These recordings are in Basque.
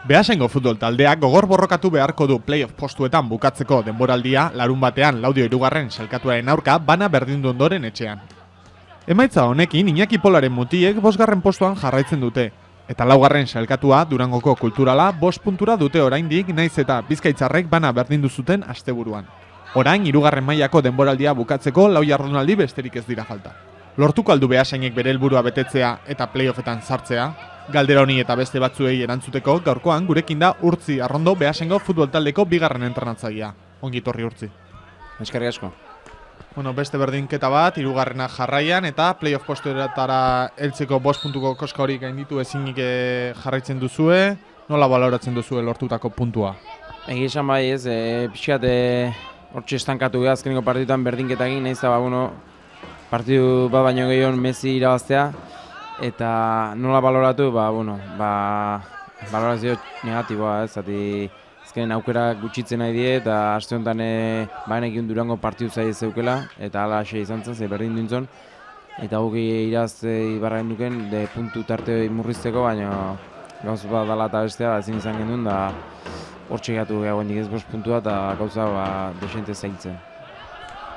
Beasaingo futbol taldeak gogor borrokatu beharko du playoff postuetan bukatzeko denboraldia larunbatean Laudio hirugarren sailkatuaren aurka bana berdindu ondoren etxean. Emaitza honekin Iñaki Polaren mutiek 5. postuan jarraitzen dute, eta 4. sailkatua Durangoko Kulturala 5 puntura dute oraindik naiz eta Bizkaitzarrek bana berdindu zuten asteburuan. Orain 3. mailako denboraldia bukatzeko 4 jardunaldi besterik ez dira falta. Lortuko aldu Beasainek bere helburua betetzea eta playoffetan sartzea? Galdera honi eta beste batzuei erantzuteko gaurkoan gurekin da Urtzi Arrondo Beasaingo futbol taldeko 2. entrenatzailea. Ongi etorri Urtzi. Eskerrik asko. Beste berdinketa bat, 3. jarraian eta playoff postuetara heltzeko 5 puntuko koska hori gainditu ezinik jarraitzen duzue. Nola baloratzen duzue lortutako puntua? Egia esan bai ez, pixkat hortxe estankatu gara azkeneko partiduetan berdinketa egin, nahiz eta partidu bat baino gehiago Messi irabaztea, eta nola baloratu, balorazio negatiboa ez, zati azkenen aukera gutxitzen nahi die, eta aste honetan baenekin Durango partidu zai ez zeukela, eta hala ase izan zen, ze berdin duintzon, eta guk iraz ibarragen duken, puntu tarte murrizteko, baina gauz bat dala eta bestea ezin izan gendun, da hortxe gatu gehiagoendik ez 5 puntua, eta gauza desente zailtzen.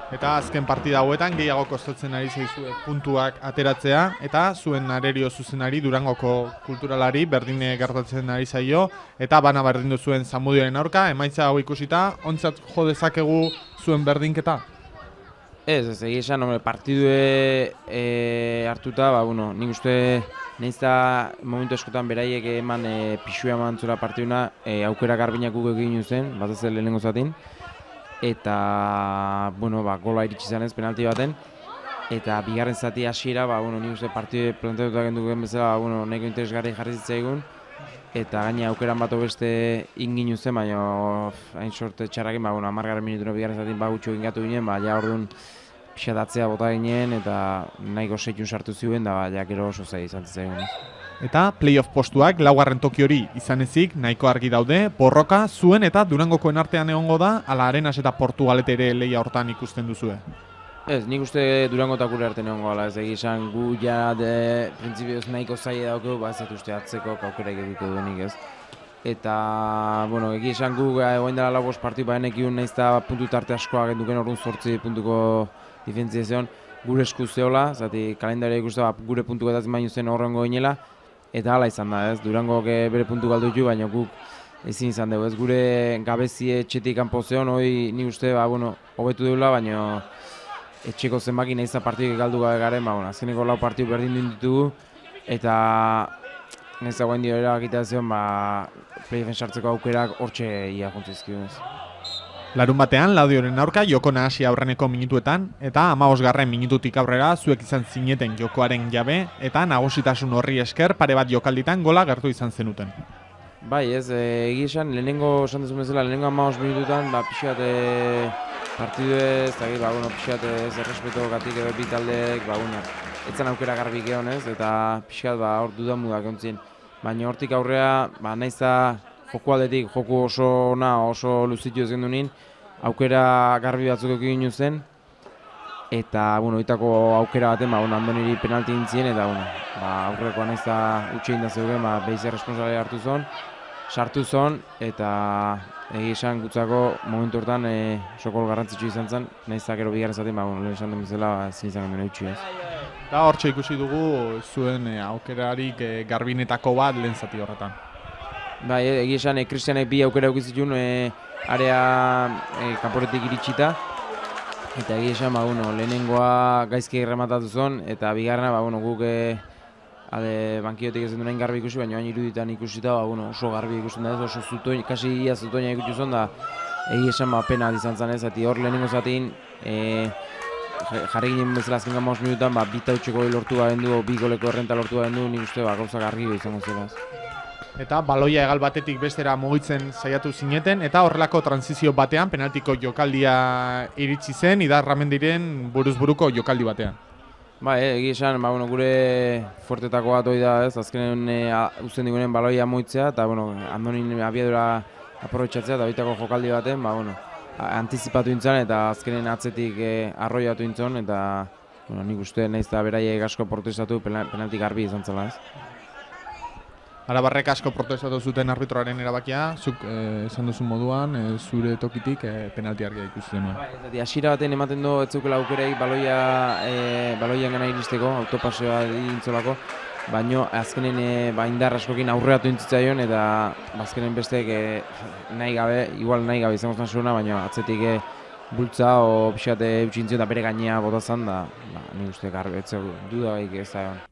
Eta azken partida hauetan gehiago kostatzen ari zaizue puntuak ateratzea, eta zuen arerio zuzenari Durangoko Kulturalari berdine gertatzen ari zaio, eta bana berdindu zuen Zamudioren aurka, emaitza hau ikusita, ontzat jo dezakegu zuen berdinketa? Ez, egia esan, partidue hartuta, nik uste nahiz eta momentu askotan beraiek eman pixua eman zura partiduna, aukera garbinak guk egin zen, batez lehenengo zatin, eta gola iritsi zanez penalti baten, eta bigarren zati hasiera, nik uste partidu planteatuta genduken bezala, nahiko interesgarri jarri zitzaigun, eta gaina aukeran bat beste inginu zen, baina hain sorte txarrakin, 10. minutura bigarren zatin gutxo ingatu ginen, ja orduan pixatatzea bota ginen, eta nahiko seitun sartu ziuen, da gero oso zai izan zitzaigun. Eta playoff postuak 4. toki hori izan ezik nahiko argi daude, borroka zuen eta Durangokoen artean egongo da, ala Arenas eta Portugalete ere lehia hortan ikusten duzue? Ez, nik uste Durango eta gure artean egongo gala, ez egizan gu ja printzipioz nahiko zaila daukeu, ez dut uste atzeko aukera egiteko duenik ez. Eta, egizan gu egoen dela 5 partidu baenekiun nahiz eta puntu tarte askoa genduken orduan 8 puntuko diferentziazion gure esku zeola, zati kalendaria ikuste gure puntuko eta baino zen horrengo ginela, eta hala izan da, ez, Durangok bere puntu galdu ditu, baina guk ezin izan dugu, ez, gure gabezie etxetik kanpo zeon, hori nik uste, hobetu deula, baina etxeko zenbaki nahiz eta partidu galdu gabe garen, azkeneko 4 partidu berdin ditugu, eta nahiz eta guen dio erabakitea zion, playoffen sartzeko aukerak hortxe ia jontzizkidu, ez. Larunbatean Laudioren aurka joko nahasi aurreneko minutuetan, eta 15. minututik aurrera zuek izan zineten jokoaren jabe, eta nagusitasun horri esker pare bat jokalditan gola gertu izan zenuten. Bai, ez, egia esan, lehenengo esan dezun bezala, lehenengo 15 minututan, pixat partidu ez, pixat ez errespeto gatik edo bitaldeek, etzan aukera garbik egon ez, eta pixat hor dudan mudak ontzien. Baina hortik aurrea, nahiz joko aldetik, joko oso oso luzitu ez gendunin, aukera garbi batzuk egin zen, eta, oitako aukera baten, Andoniri penalti intzien, eta, aurrekoa nahiz eta utxe inda zeugen, behize responsalia hartu zon, sartu zon, eta esan gutzako momentu hortan sokol garrantzitsu izan zen, nahiz eta gero bigarren zaten, lehen esan den bezala, zin izan genuen utxe ez. Eta hortxe ikusi dugu zuen aukerarik garbinetako bat lehen zati horretan. Bai, egia esan, Kristianek bi aukera eukizitun area kanporetik iritsita. Eta egia esan, lehenengoa gaizki rematatu zon, eta bigarrena, guk bankiotik ez duen garbi ikusi, baina hain iruditan ikusita, oso garbi ikusten da ez, oso zutoin, kasi ia zutoina ikutu zon, da egia esan, pena izan zen ez, zati hor lehenengo zatin, jarri ginen bezala azken 15 minutan, bi tautxeko lortu garen du, bi goleko errenta lortu garen du, nik uste, gauza garbi izango zela. Eta baloia egal batetik bestera mugitzen saiatu zineten, eta horrelako transizio batean penaltiko jokaldia iritsi zen, Idarramendiren buruz-buruko jokaldi batean. Egia esan, gure fuertetako bat hori da ez, azkenen uzten digunen baloia mugitzea, eta Andonin abiadura aprobetxatzea, eta bitako jokaldi baten, antizipatu intzan, eta azkenen atzetik arroiatu intzon, eta nik uste nahiz eta beraiek asko protestatu penalti garbi izan zela ez. Arabarrek asko protestatu zuten arbitroaren erabakia, zuk esan duzu moduan, zure tokitik penalti argia ikusi zenuen. Bai, hasiera baten ematen du ez zeukela aukereik baloian gana iristeko, autopaseoa dintzolako, baina azkenen indar askokin aurreatu intzitzaion eta azkenen besteek nahi gabe izango zen zuena, baina atzetik bultza o pixate eutxintzio eta bere gainea botazan da, nik uste garbi, ez duda baik ez da egon.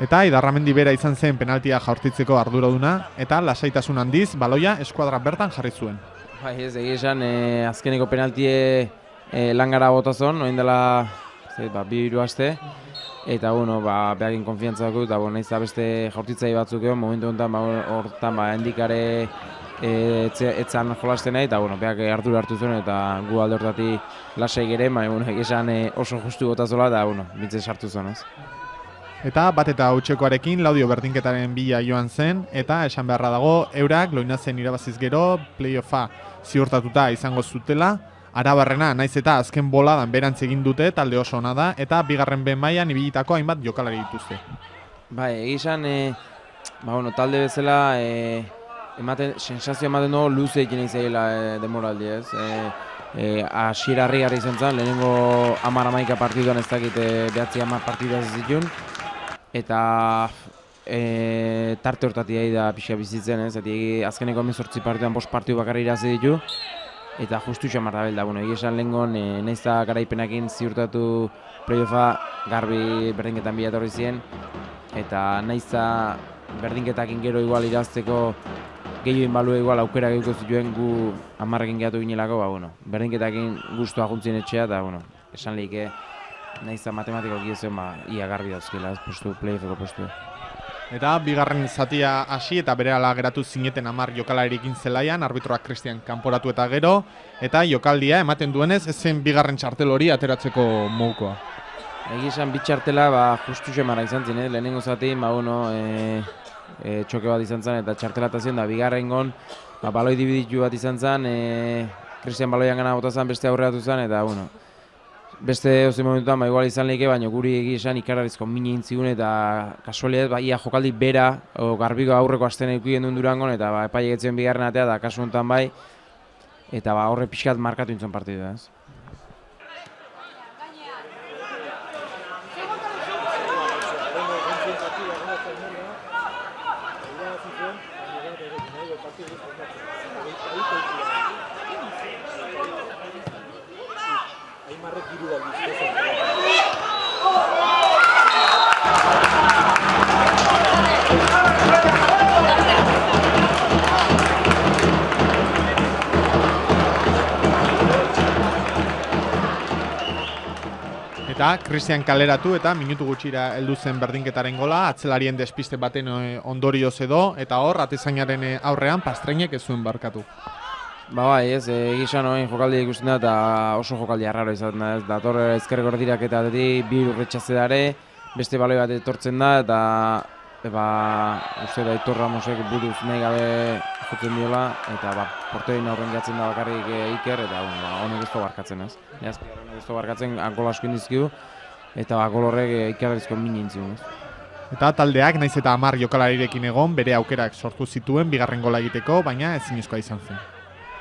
Eta Idarramendi bera izan zen penaltia jaurtitzeko arduraduna, eta lasaitasun handiz baloia eskuadra bertan jarri zuen. Bai, ez egia esan, azkeneko penaltie langara botazon, oin dela 2-3 aste, eta behakin konfiantza dugu, eta nahiz da beste jaurtitzai batzuk egon, momentu hortan hendikare etzan jolasten nahi, eta behak ardura hartu zuen, eta gu alde hortatik lasai gere, egia esan oso justu botazola, eta bintzen sartu zuen, ez. Eta bat eta hutsekoarekin Laudio berdinketaren bila joan zen, eta esan beharra dago, eurak Loinazen irabaziz gero playoffa ziurtatuta izango zutela, Arabarrena naiz eta azken boladan berantz egin dute talde oso ona da, eta bigarren B mailan ibilitako hainbat jokalari dituzte. Bai, egizan, talde bezala sensazio ematen dugu luze egin izaiela demoraldi, ez? Hasiera harrigarria izan zen, lehenengo 10-11 partiduan ez dakit 9-10 partidua ez zituen, eta tarte hortatik da pixka bizitzen, ez? Azkeneko 18 partiduan 5 partidu bakarri irazi ditu, eta justu xamar da belda. Egizan lehengon, nahiz da garaipenakin ziurtatu playoffa garbi berdinketan bila etorri ziren, eta nahiz da berdinketakin gero igual irazteko gehioin balue igual aukera gehiko zituen gu 10ekin gehatu ginelako, berdinketakin guztua juntzien etxea, eta esan lehike nahiz da matematiko gizien ia garbi dauzkela, playoffeko postu. Eta bigarren zatia hasi eta berehala geratu zineten 10 jokalarirekin zelaian, arbitroak Cristian kanporatu eta gero, eta jokaldia ematen duenez ezen bigarren txartel hori ateratzeko modukoa. Egizan bi txartela justu xemara izan zen, lehenengo zati, txoke bat izan zen eta txartelatazioen da bigarrengon baloi dibiditu bat izan zen, Cristian baloian gana bota zen, beste aurreatu zen, eta beste oze momentuan igual izan lehike, baina guri egizan ikarrarizko mini intzigun eta kasualiet ia jokaldi bera garbiko aurreko asten eukien duen Durangon eta epai egetzen bigarren atea da kasu honetan bai, eta horre pixkat markatu intzon partidu, ez? Eta Cristian kaleratu eta minutu gutxira heldu zen berdinketaren gola, atzelarien despiste baten ondorioz edo, eta hor, atezainaren aurrean Pastreinek ez zuen barkatu. Bai, ez, egizan jokaldi ikusten da eta oso jokaldi arraro izaten da, ez, dator ezkerreko erdirak eta bi urretxaze dare, beste baloi bat etortzen da, eta uste da Aitor Ramosek buruz nahi gabe jotzen diola, eta porterin aurren jatzen da bakarrik Iker, eta honek ez barkatzen, ez. Neazpigar honek ez barkatzen, gol asko indizkidu, eta gol horrek Ikerrezko mini intzun, ez. Eta taldeak naiz eta 10 jokalarirekin egon, bere aukerak sortu zituen bigarren gola egiteko, baina ezinezkoa izan zen.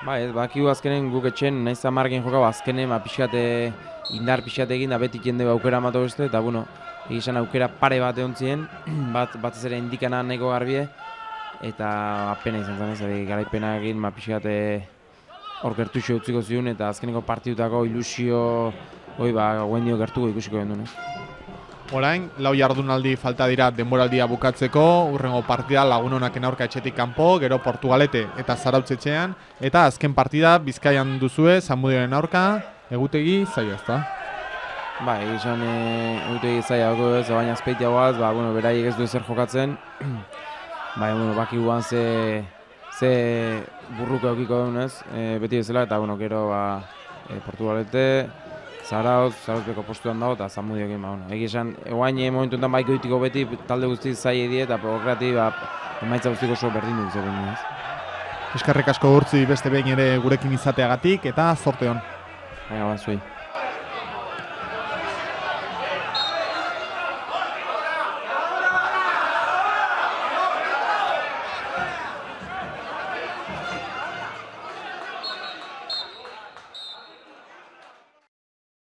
Ba, ez, bakigu azkenen guk etxen, naiz eta 10 jokau azkenen indar pixate egin da beti jende aukera amatu beste, eta egizan aukera pare bat egon ziren, bat ez ere indikana nahiko garbie, eta apena izan zen ez, garaipena egin pixate hor gertuxo utziko ziun, eta azkeneko partidutako ilusio guen dio gertuko ikusiko gendun. Orain, 4 jardunaldi falta dira denboraldia bukatzeko, urrengo partida Lagunonaken aurka etxetik kanpo, gero Portugalete eta Zarautzetxean, eta azken partida Bizkaian duzue, Zamudioren aurka, egutegi zaila ezta? Ba, egizan egutegi zaila dago ez, baina azpeitia guaz, beraiek ez du ezer jokatzen, baki guan ze burruko eukiko duen ez, beti bezala, eta gero Portugalete, Zarauzbeko postuan dago eta Zamudiokin, egi esan, eguain momentu enten baiko ditiko beti talde guztiz zai die eta prograti emaitza guztiko oso berdin dut zegoen. Eskerrik asko Urtzi beste behin ere gurekin izateagatik eta zorte hon. Zuei.